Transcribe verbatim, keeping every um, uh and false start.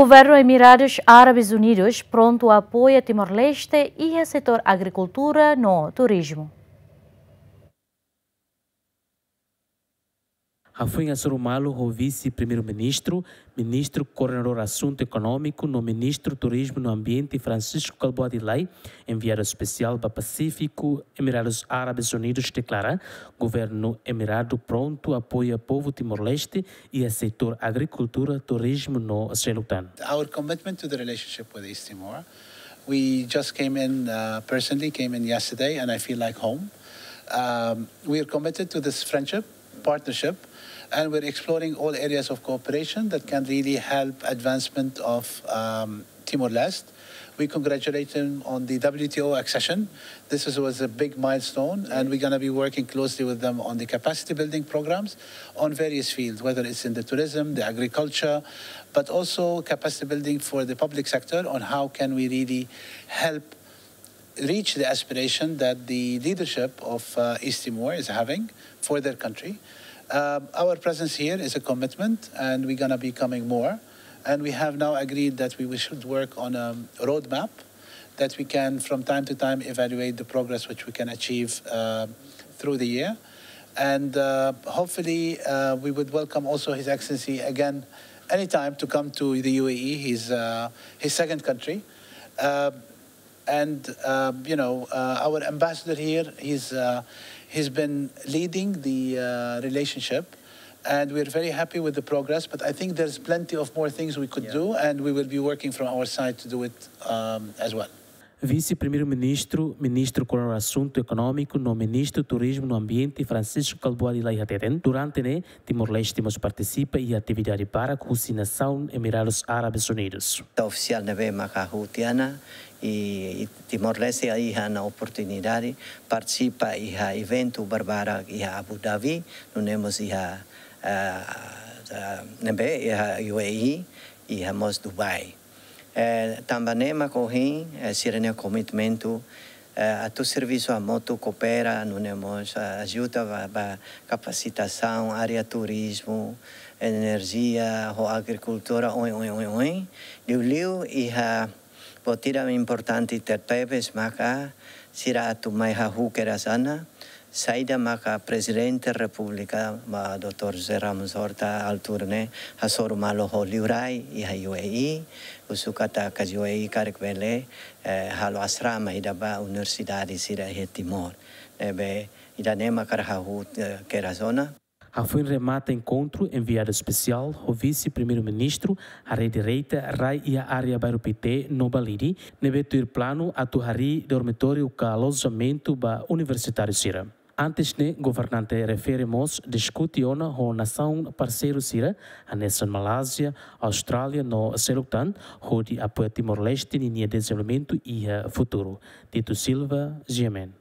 Governu Emiradus Árabes Unidus prontu apoia Timor-Leste iha setór agrikultura no turizmu. Hafoin hasoru malu ho Vise-Primeiru-Ministru, Ministru Koordenadór Asuntu Ekonómiku no Ministru Turizmu no Ambiente Francisco Kalbuadi Lay, enviadu espesiál ba Pasífiku, Emiradus Árabes Unidus deklara, governu emiradu prontu apoia povu Timor-Leste iha setór agrikultura, turizmu no seluk tan. Our commitment to the relationship with East Timor. We just came in, uh, personally came in yesterday, and I feel like home. Um, we are committed to this friendship, partnership, and we're exploring all areas of cooperation that can really help advancement of, um, Timor-Leste. We congratulate him on the W T O accession. This is, was a big milestone, and we're gonna be working closely with them on the capacity building programs on various fields, whether it's in the tourism, the agriculture, but also capacity building for the public sector on how can we really help reach the aspiration that the leadership of, uh, East Timor is having for their country. Um, our presence here is a commitment, and we're gonna be coming more. And we have now agreed that we, we should work on a roadmap that we can, from time to time, evaluate the progress which we can achieve, uh, through the year. And, uh, hopefully, uh, we would welcome also His Excellency again anytime to come to the U A E, his, uh, his second country. Uh, and, uh, you know, uh, our ambassador here, he's, uh, he's been leading the, uh, relationship, and we're very happy with the progress, but I think there's plenty of more things we could do, and we will be working from our side to do it, um, as well. Vise-Primeiru-Ministru, Ministru Koordenadór Asuntu Ekonómiku no Ministru Turizmu no Ambiente Francisco Kalbuadi Lay hateten, durante ne'e Timor-Leste mós partisipa iha atividade barak husi nasaun Emiradus Árabes Unidus. Ofisiál ne'ebé maka hutiana i, i Timor-Leste iha ona oportunidade partisipa iha eventu barbarak iha Abu Dhabi, nune'e mós iha, ah, ah, ne'ebé iha U A E, iha mós Dubai. Eh, tanba ne'e mak ohin, eh, sira-nia komitmentu, eh, atu servisu hamutuk, koopera, nune'e mós, eh, ajuda ba, ba kapasitasaun, área turizmu, enerjia, ho agrikultura, oin, oin, oin, oin. Liuliu iha buat ida importante tebetebes maka sira atu mai hahú kedas ona, saida maka Prezidente Repúblika, ba Doutór José Ramos Horta altura ne'e, hasoru malu ho liurai iha U A E, husu katak U A E karik bele, eh, halo asrama ida ba universidade sira iha Timor. Ne'ebé ida-ne'e mak ha'u hahú, eh, kedas ona. Hafoin remata enkontru, enviadu espesiál ho Vise-Primeiru-Ministru haree direta rai iha área Bairru Pité no Balide, ne'ebé tuir planu atu harii dormitóriu ka alojamentu ba universitáriu sira. Antes ne'e, governante refere mós diskute ona ho nasaun parseiru sira, hanesan Malázia, Austrália no seluk tan, hodi apoia Timor-Leste ninia dezenvolvimentu iha futuru. Tito Silva, G M N.